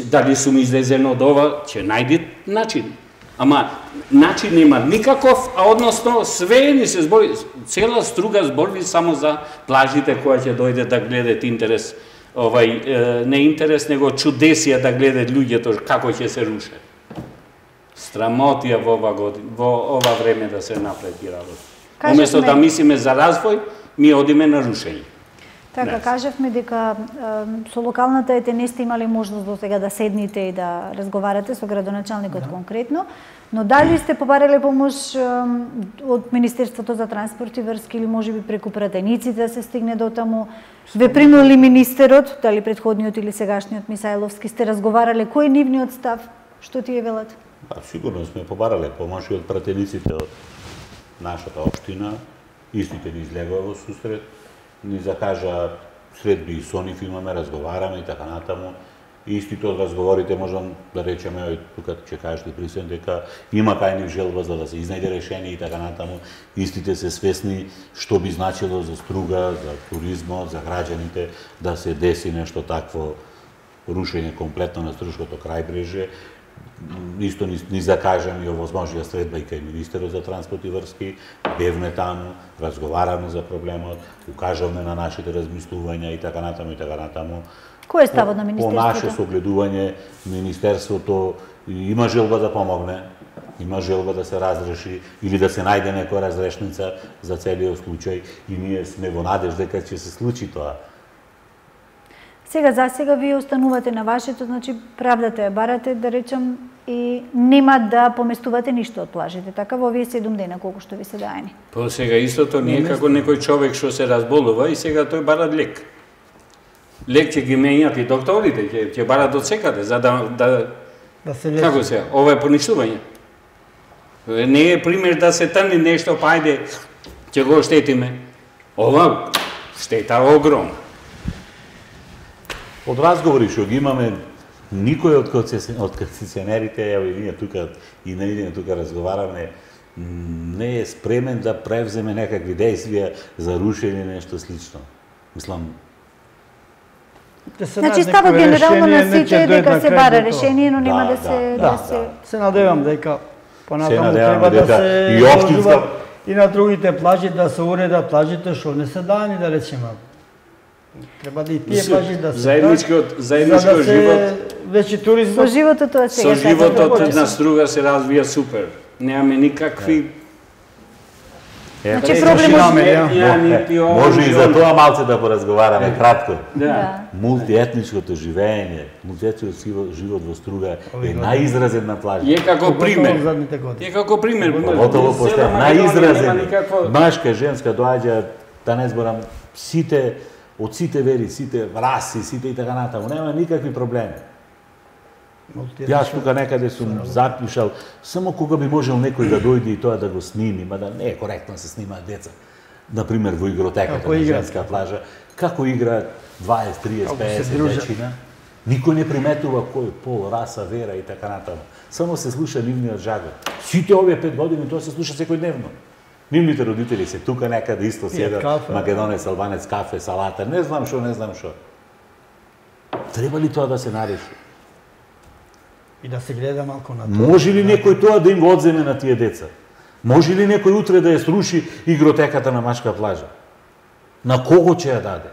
Дали сум излезен од ова, ќе најди начин. Ама начин нема никаков, а односно све ни се збори, цела Струга збори само за плажите која ќе дојде да гледат интерес, не интерес, него чудесија да гледат луѓето како ќе се рушат. Страмотија во ова време да се направи работа. Уместо да мислиме за развој, ми одиме на рушење. Така, кажавме дека со локалната ЕТН сте имали можност до сега да седните и да разговарате со градоначалникот конкретно, но дали сте побарале помош од Министерството за транспорт и врски или можеби преку пратениците да се стигне до таму? Ве примил ли министерот, дали претходниот или сегашниот Мисајловски, сте разговарале, кој е нивниот став? Што ти е велат? Сигурно сме побарале помоши од пратениците од нашата општина, истите ни излегува во сусрет, ни закажа средби и со нив имаме, разговараме и така натаму. Истите од разговорите можам да речеме, тука ќе кажете присен, дека има кај нив желба за да се изнајде решение и така натаму. Истите се свесни што би значило за Струга, за туризмот, за граѓаните да се деси нешто такво рушење комплетно на Струшкото крајбрежје. Исто ни закажам и овозможија средба и кај Министерот за транспорт и врски, бевме таму, разговараме за проблемот, укажавме на нашите размислувања и така натаму и така натаму. Кој е ставот на Министерството? По наше согледување, Министерството има желба да помогне, има желба да се разреши или да се најде некоја разрешница за целиот случај и ние сме во надежда дека ќе се случи тоа. Сега, за сега вие останувате на вашето, значи правдата ја барате, да речам, и нема да поместувате ништо од плажите, така во овие 7 дена колку што ви се даени. По сега истото не е како некој човек што се разболува и сега тој бара лек. Лек ќе ги менјат и докторите, ќе барат од секаде, за да се лечи. Како се, ова е поништување. Не е пример да се трни нешто, па ајде, ќе го штетиме. Ова штета огромна. Од разговори што ги имаме, никој од концесионерите, ево и ние тука, и ние тука разговараме, не е спремен да превземе некакви действија за рушење нешто слично. Мислам, значи ставот генерално на сите е дека се бара решение, но нема да се... Се надевам дека понатаму треба да се општинска и на другите плажи да се уредат плажите што не се дани, да речеме. Треба да и тие плажи да се заедничкиот живот. Веќе туризмот. Со животот тоа сега. Со животот на Струга се развија супер. Немаме никакви. Значи проблемот може и за тоа малце да поразговараме кратко. Да. Мултиетничкото живење, мултиетничкиот живот во Струга е најизразен на плажа. Е како пример. Е како пример. Готово постане најизразен. Машка, женска доаѓа, да не зборам, сите од сите вери, сите раси, сите и така натаму, нема никакви проблеми. Јас тука некаде сум запишал, само кога би можел некој да дојде и тоа да го сними, мада не е коректно да се снимаат деца. Например, во игротеката на женска плажа, како играат 20, 30, 50 дечина, никој не приметува кој пол, раса, вера и така натаму. Само се слуша нивниот жагот. Сите овие 5 години тоа се слуша секојдневно. Нивните родители се тука некаде исто седат, македонец, албанец, кафе, салата, не знам што. Треба ли тоа да се нареши? И да се гледа малку на тоа. Може ли некој тоа да им го одземе на тие деца? Може ли некој утре да ја сруши игротеката на Машка плажа? На кого ќе ја даде?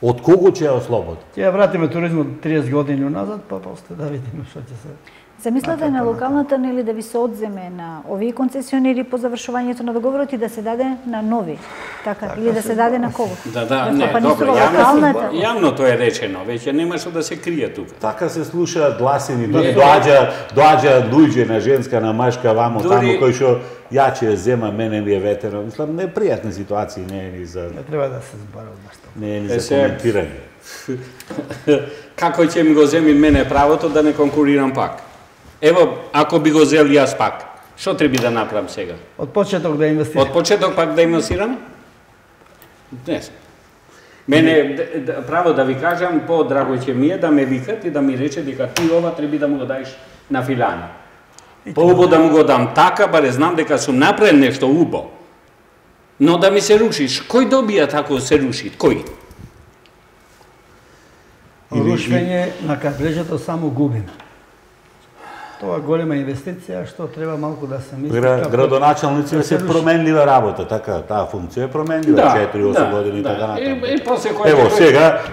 Од кого ќе ја ослободи? Ќе ја вратиме туризмот 30 години назад, па после да видиме што ќе се... Замислете на локалната нели да ви се одземе на овие концесионери по завршувањето на договорот и да се даде на нови, така или да се даде на кого? Да, не, добро, јавно тоа е речено, веќе нема што да се крие тука. Така се слушаат гласини, доаѓаат луѓе на женска, на машка, вамо, таму, кој што ја ќе зема, мене ми е ветено. Мислам, непријатни ситуации, не е ни за... Не треба да се збарува баш тоа. Не е ни за коментирање. Како ќе ми го земи мене правото да не конкурирам пак? Ево, ако би го зел јас пак, што треба да направам сега? Од почеток да инвестирам. Од почеток пак да инвестирам? Не. Мене, право да ви кажам, по-драго ќе ми е да ме викат и да ми рече дека ти ова треба да му го даеш на филана. По-убо да му го дам така, баре знам дека сум направен нешто убо. Но да ми се рушиш, кој добија тако се руши? Кој? Рушвење на кадрежето само губим. Тоа голема инвестиција што треба малку да се мисли. Градоначалници се променлива работа, така, таа функција е променлива, 4-8 години и така натаму. Ево,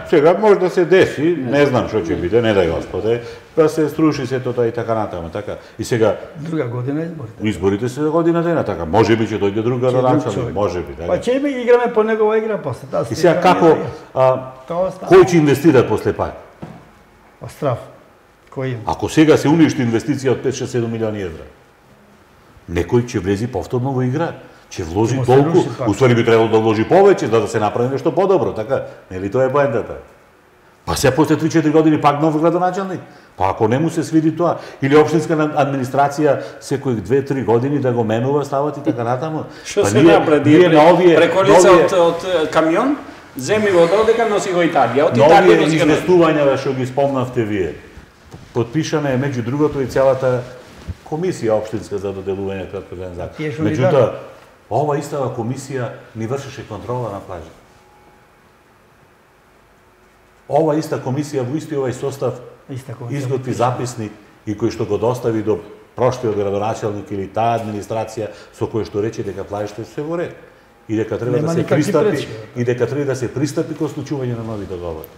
сега може да се деси, не знам што ќе биде, не дај Господе, да се струши сето тоа и така натаму, така. И сега друга година изборите. Изборите се година дена, така. Можеби ќе дојде друг градоначалник, можеби, така. Па ќе играме по негова игра после таа. И сега како кој ќе инвестира после пак? Па страф. Ако сега се уништи инвестиција од 5-6-7 милиони евра, некој ќе влези повторно во игра, ќе вложи толку, уствари би требало да вложи повеќе, за да се направи нешто подобро, така? Нели тоа е поентата? Па се после 3-4 години пак нов градоначалник? Па ако не му се свиди тоа, или општинска администрација секој 2-3 години да го менува, стават и така натаму. Што се направи? Преколица од камион, земи го додека носи го Италија, од Италија носи го. Нови инвестувања што ги спомнавте вие. Подпишана е меѓу другото и целата комисија општинска за доделување краткотраен закон. Меѓутоа, ова истава комисија ни вршеше контрола на плажите. Ова иста комисија во исти овај состав изготви записник и кој што го достави до прошлиот градоначалник или таа администрација со кој што рече дека плажите се во ред и дека треба да се пристапи и дека треба да се пристапи кон склучување на нови договори.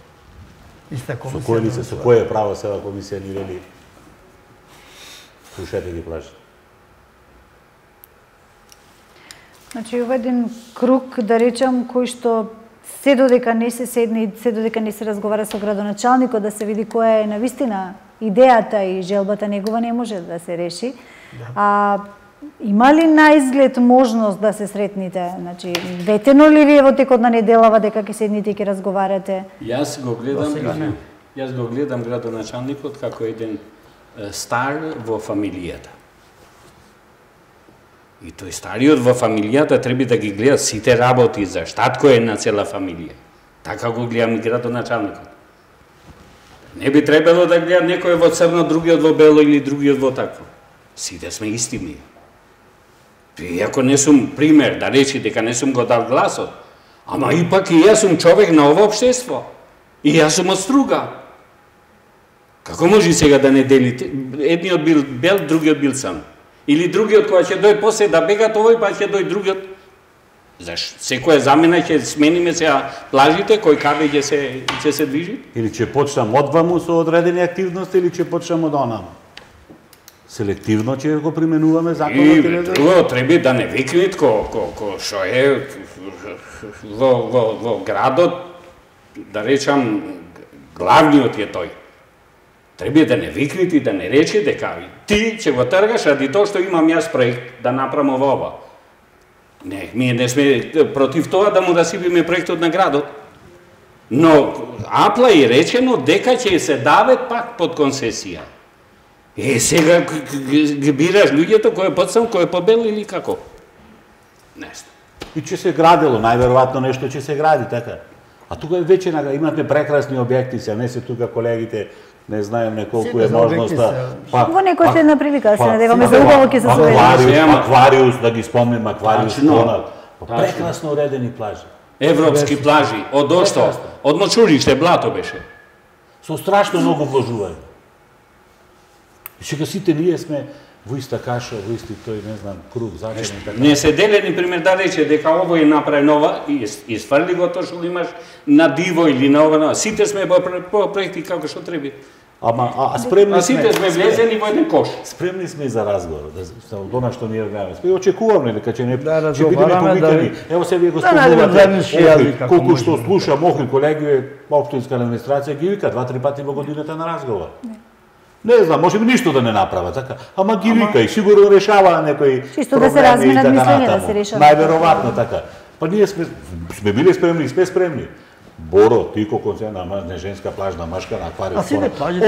Со кој лице, со кое право сега комисија ни вели слушате ги плажите? Значи, ова еден круг, да речам, кој што се додека не се седне, се додека не се разговара со градоначалникот, да се види која е навистина идејата и желбата негова, не може да се реши. Има ли на изглед можност да се сретните? Значи, ветено ли ви е во текот на неделава дека ќе седните и ќе разговарате? Јас го гледам градоначалникот како еден стар во фамилијата. И тој стариот во фамилијата треба да ги гледа сите работи за штатко е на цела фамилија. Така го гледам и градоначалникот. Не би требало да гледа некој во црно, другиот во бело или другиот во такво. Сите сме исти ми. Иако не сум пример, да речи дека не сум го дал гласот, ама ипак и јас сум човек на ова општество. И јас сум од Струга. Како може сега да не делите? Едниот бил бел, другиот бил црн. Или другиот која ќе дојде после да бегат овој, па ќе дојде другиот. Зашто? Секоја замена ќе смениме сега плажите, кој каде ќе се движи? Или ќе почнам одваму со одредени активности, или ќе почнам од онаму? Селективно ќе го применуваме законот или да? Друго, треба да не викнет ко што е во градот, да речам, главниот е тој. Треба да не викнет и да не рече дека ти ќе го тргаш ради тоа што имам јас проект да направам ова. Не, ние не сме против тоа да му расипиме проектот на градот. Но апла е речено дека ќе се даве пак под концесија. Сега ги бираш луѓето кој е подсам, кој е побел или како? Нешто. И ќе се градело, најверојатно нешто ќе се гради, така. А тука веќе имате прекрасни објекти, се не се тука колегите, не знаеме колку е можноста. Во некоја следна прилика да се надеваме за убаво ќе се соведеме. Аквариус, да ги спомнем, Аквариус, прекрасно уредени плажи. Европски плажи, од Ошто, од Мочуриште, блато беше. Со страшно многу вложување. И сега сите ние сме во иста каша, во исти тој, не знам, круг, зачинен, така. Не се делени, пример, да рече дека ово е направено ова и изфрли го тоа што имаш на диво или на ова. Сите сме по проекти како што треба. А спремни сите сме влезени во еден кош. Спремни сме и за разговор, за она што ние гледаме. И очекуваме дека ќе бидеме разговараме, повикани. Ево се вие го спомнувате. Колку што слушам Охрид колеги, општинска администрација ги вика 2-3 пати во годината на разговор. Не знам, може би ништо да не направа, така. Ама ги вика и сигурно решава некои чисто да се разменат мислења, да се решава. Најверојатно така. Па ние сме били спремни и сме спремни. Боро, ти колку се на женска плажна машка на аквариум.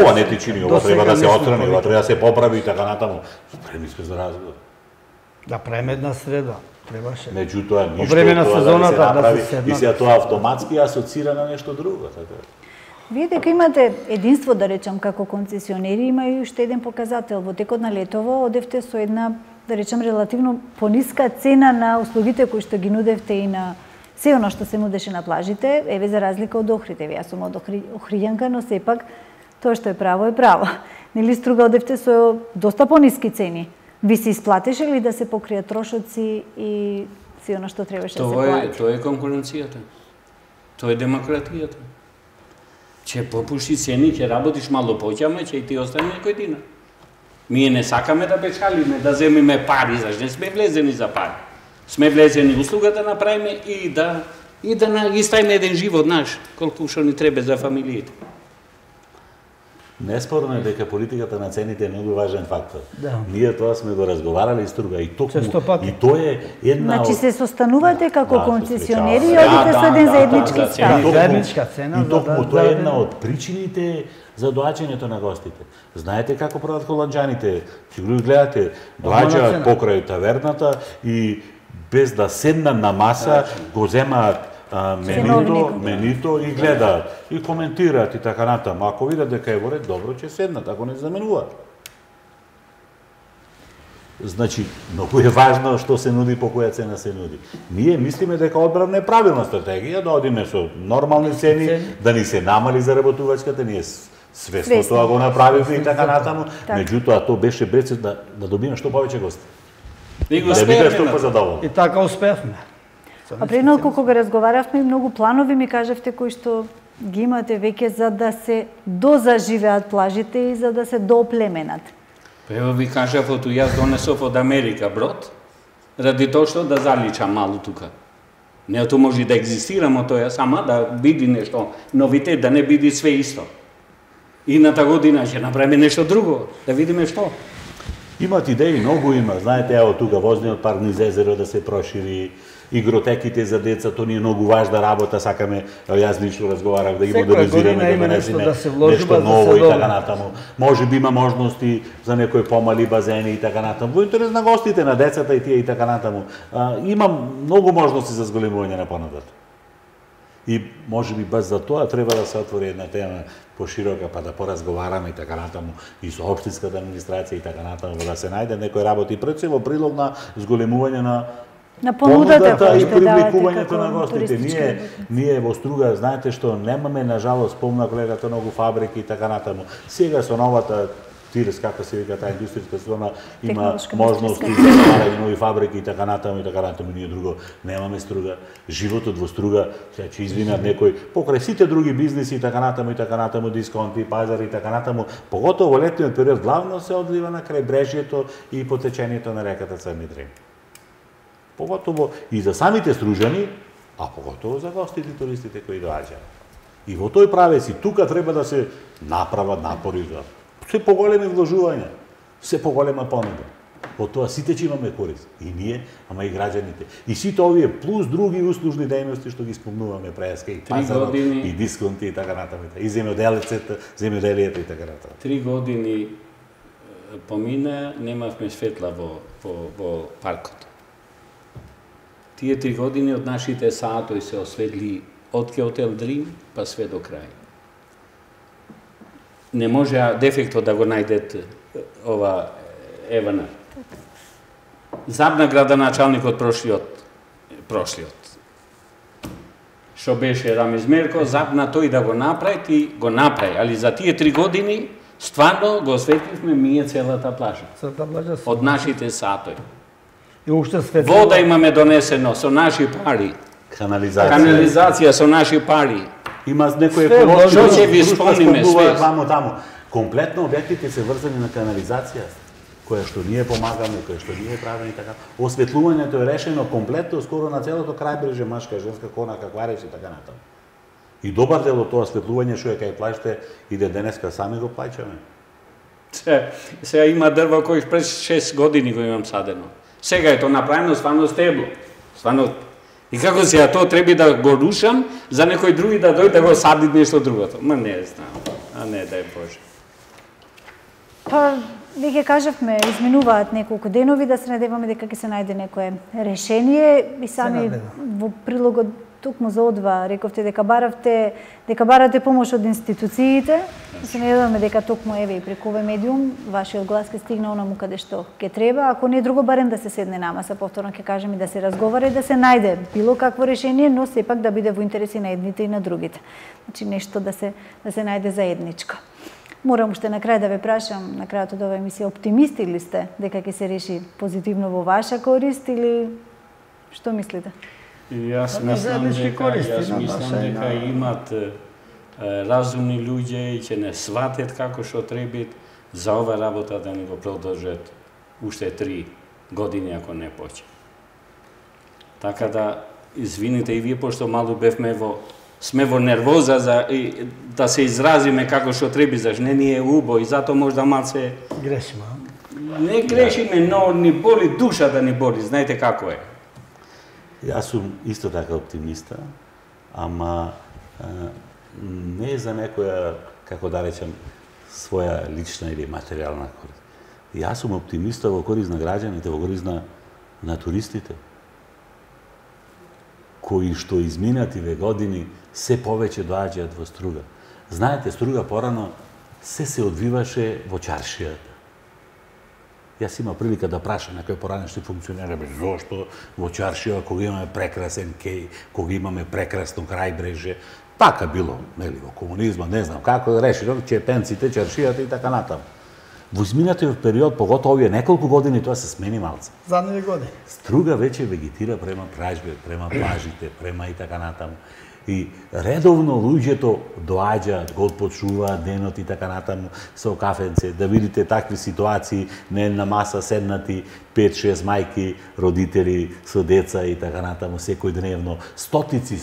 Ова не ти чини, ова треба да се отстрани, ова треба да се поправи и така натаму. Спремни сме за разговор. Да правиме една среда, требаше. Меѓутоа ништо време на тоа сезоната да се направи да се седнат. и сега тоа автоматски асоцира на нешто друго, така. Вие дека имате единство, да речам, како концесионери, има и уште еден показател. Во текот на летово одевте со една, да речам, релативно пониска цена на услугите кои што ги нудевте и на се оно што се нудеше на плажите, еве за разлика од Охрид. Еве јас сум од Охријанка, но сепак тоа што е право е право. Нели струга одевте со доста пониски цени. Ви се исплатеше ли да се покријат трошоци и се оно што требаше да се плати? Тоа е конкуренцијата. Тоа е демократијата. Ќе попушти цени, ќе работиш мало повеќе, ама ќе и ти остане некој динар. Ние не сакаме да печалиме, да земиме пари, зашто не сме влезени за пари. Сме влезени услуга да направиме и да ставиме еден живот наш, колку што ни треба за фамилиите. Неспорно е дека политиката на цените е многу важен фактор. Да. Ние тоа сме го разговарали струга и токму Честопати. и тоа е една Значи се состанувате како Да, концесионери и се одите со еден заеднички да, став. Заедничка цена, И токму да, тоа е да, една да. од причините за доаѓањето на гостите. Знаете како прават холанџаните? Ќе го гледате, доаѓаат покрај таверната и без да седнат на маса, го земаат менито и гледаат и коментираат и така натаму. Ако видат дека е во ред, добро ќе седнат, ако не заменуваат. Значи, многу е важно што се нуди, по која цена се нуди. Ние мислиме дека одбравна е правилна стратегија, да одиме со нормални цени, да ни се намали заработувачката, ние свесно тоа го направивме и така натаму, меѓутоа тоа беше без да добиме што повеќе гости. И го Да биде што успеевме. позадоволни. И така успевме. А пред кога разговаравме, многу планови ми кажавте кои што ги имате веќе за да се дозаживеат плажите и за да се дооплеменат. Ево ви кажав, јас донесов од Америка брод, ради тоа што да заличам малу тука. Не тоа може да екзистираме тоа, сама да биде нешто новитет, да не биде све исто. Идната година ќе направиме нешто друго, да видиме што. Имат идеи, многу има. Знаете, ево тука возниот парк низ езеро да се прошири, игротеките за деца, тоа ни е многу важна работа, сакаме, јас лично разговарав да ги модернизираме, да донесеме нешто ново и така натаму. Може би има можности за некои помали базени и така натаму. Во интерес на гостите, на децата и тие и така натаму. Има многу можности за зголемување на понудата. И може би баш за тоа треба да се отвори една тема поширока, па да поразговараме и така натаму и со општинската администрација и така натаму, да се најде некој работи пред се во прилог на зголемување на понудата и привлекувањето на гостите. Ние во Струга, знаете што, немаме, нажалост, спомна колегата, многу фабрики и така натаму. Сега со новата ТИРС, како се вика таа индустријска зона, има можности за стварање нови фабрики и така натаму. Ние друго немаме Струга. Животот во Струга, сега ќе извинат некој, покрај сите други бизниси и така натаму, дисконти, пазари и така натаму, поготово во летниот период, главно се одлива на крајбрежјето и по течењето на реката Црни Дрин. Поготово и за самите стружани, а поготово за гостите и туристите кои доаѓаат. И во тој правец и тука треба да се направат напори за се поголеми вложувања, се поголема понуда. Од тоа сите ќе имаме корист. И ние, ама и граѓаните. И сите овие плюс други услужни дејности што ги спомнуваме преска и пазарот, и дисконти и така натаму. И земјоделието и така натаму. 3 години помина, немавме светла во паркот. Тие 3 години од нашите саатои се осветли од Хотел Дрим па све до крај. Не може дефектот да го најдет ова Евана. Забна градоначалникот прошлиот. Што беше Рамиз Мерко, забна тој да го направи, али за тие 3 години стварно го осветливме ние целата плажа. Од нашите саатои. И уште светло. Вода имаме донесено со наши пари. Канализација со наши пари. Има некои еколошки што ќе ви спомниме све. Таму. Комплетно објектите се врзани на канализација, која што ние помагаме, која што ние правиме и така. Осветлувањето е решено комплетно скоро на целото крајбрежје, машка, женска, конака, квареш и така натаму. И добар дел од тоа осветлување што е кај плажите иде денеска сами го плаќаме. Сега има дрво кој пред 6 години го имам садено. Сега е тоа направено стварно стебло. Стварно. И како сега тоа треба да го рушам за некој други да дојде да го сади нешто другото. Ма не знам. А не дај Боже. Па, веќе кажавме, изминуваат неколку денови, да се надеваме дека ќе се најде некое решение и сами во прилогот токму за одва рековте дека барате помош од институциите. Се надеваме дека токму еве и преку овој медиум вашиот глас ќе стигне онаму каде што ќе треба, ако не друго барем да се седне на маса, повторно ќе кажем и да се разговара и да се најде било какво решение, но сепак да биде во интереси на едните и на другите. Значи нешто да се најде заедничко. Морам уште на крај да ве прашам, на крајот од оваа емисија, оптимисти ли сте дека ќе се реши позитивно во ваша корист или што мислите? Јас мислам дека имат разумни луѓе и ќе не сватат како што треба за ова работа да не го продолжат уште 3 години ако не почне. Така да извините и вие пошто малку сме во нервоза за да се изразиме како што треба, зашто не ни е убо и затоа можда малце грешиме. Не грешиме, но ни боли душа да ни боли, знаете како е. Јас сум исто така оптимиста, ама не за некоја, како да речем, своја лична или материјална корист. Јас сум оптимиста во корист на граѓаните, во корист на туристите, кои што изминативе години се повеќе доаѓаат во Струга. Знаете, Струга порано се одвиваше во чаршијата. Јас имам прилика да прашам некој поранешни функционери, зошто во чаршија кога имаме прекрасен кеј, кога имаме прекрасно крајбрежје, така било, нели, во комунизма, не знам како да реши, чепенците, чаршијата и така натаму. Во изминатиот период, поготово овие неколку години, тоа се смени малце. Задниве години. Струга веќе вегетира према прајбе, према плажите, према и така натаму. И редовно луѓето доаѓаат, го почуваат денот и така натаму со кафенце, да видите такви ситуации, не на маса седнати 5-6 мајки, родители со деца и така натаму секој дневно, стотици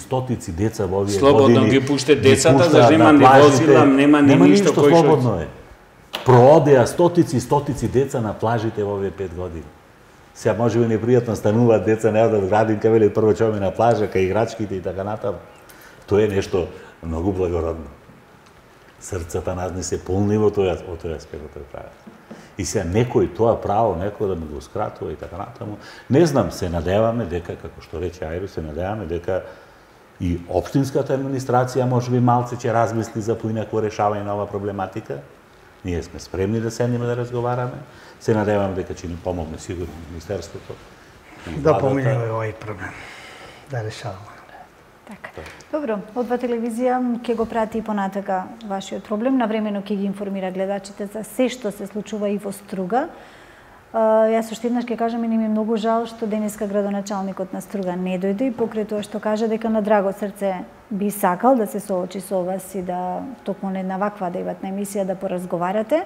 деца во овие години. Слободно ги пуште децата, зашто има ни возила, нема ни ништо кој што слободно е. Проодеа стотици деца на плажите во овие 5 години. Сега може би непријатно стануваат деца, не одат градинка, велат прво ќе на плажа, кај играчките и така натаму. Тоа е нешто многу благородно. Срцата назни се полни во тој аспект да прават. И сега некој тоа право, некој да ми го скратува и така натаму. Не знам, се надеваме дека, како што рече Ајро, се надеваме дека и општинската администрација можеби малце ќе размисли за поинако решавање на оваа проблематика. Ние сме спремни да седнеме да разговараме. Се надеваме дека ќе ни помогне сигурно Министерството. Да поминеме овој проблем. Да решаваме. Така. Добро, Одва телевизија ќе го прати и понатака вашиот проблем. Навремено ќе ги информира гледачите за се што се случува и во Струга. Јас уште еднаш ќе кажам и не ми е многу жал што денеска градоначалникот на Струга не дојде и покрај тоа што кажа дека на драго срце би сакал да се соочи со вас и да токму на една ваква дејватна емисија да поразговарате.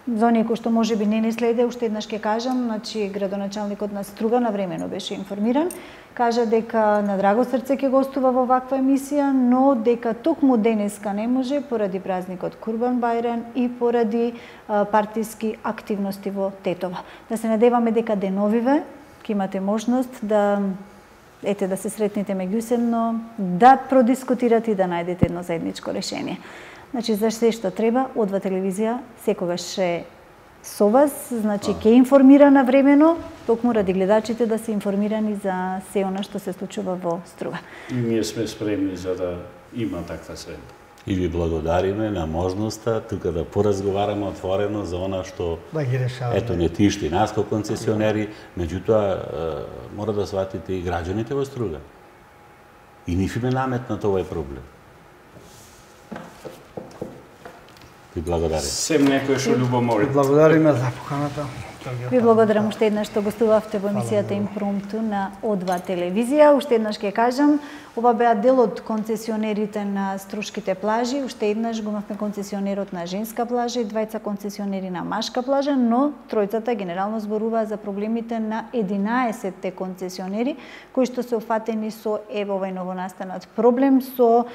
За оние кои што можеби не следе, уште еднаш ќе кажам, значи градоначалникот на Струга навремено беше информиран, кажа дека на драго срце ќе гостува во ваква емисија, но дека токму денеска не може поради празникот Курбан Бајрам и поради партиски активности во Тетово. Да се надеваме дека деновиве ќе имате можност да да се сретнете меѓусебно, да продискутирате и да најдете едно заедничко решение. Значи, за се што треба, Одва телевизија секогаш е со вас, значи, ќе информира навремено, токму ради гледачите да се информирани за се она што се случува во Струга. И ние сме спремни за да има таква средба. И ви благодариме на можноста тука да поразговараме отворено за она што да ги решаваме. Ето не тишти нас како концесионери, меѓутоа мора да сватите и граѓаните во Струга. И ниф им е наметнат овој проблем. Ви благодарим. Сем некој што љубомори. Благодариме за поканата. Ви благодарам уште еднаш што гостувавте во емисијата Импромту на О2 телевизија. Уште еднаш ќе кажам, ова беа дел од концесионерите на Струшките плажи. Уште еднаш го имавме концесионерот на женска плажа и двајца концесионери на машка плажа, но тројцата генерално зборуваа за проблемите на 11-те концесионери кои што се уфатени со овој новонастанат проблем со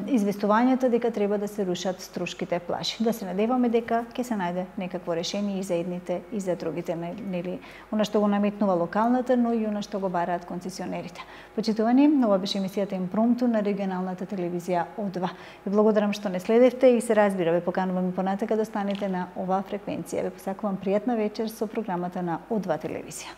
известувањето дека треба да се рушат Струшките плажи. Да се надеваме дека ќе се најде некакво решение и за едните и за другите, нели, она што го наметнува локалната, но и она што го бараат концесионерите. Почитувани, ова беше емисијата Импромту на регионалната телевизија О2. Ви благодарам што не следевте и се разбира, ве поканувам и понатака да останете на оваа фреквенција. Ве посакувам пријатна вечер со програмата на О2 телевизија.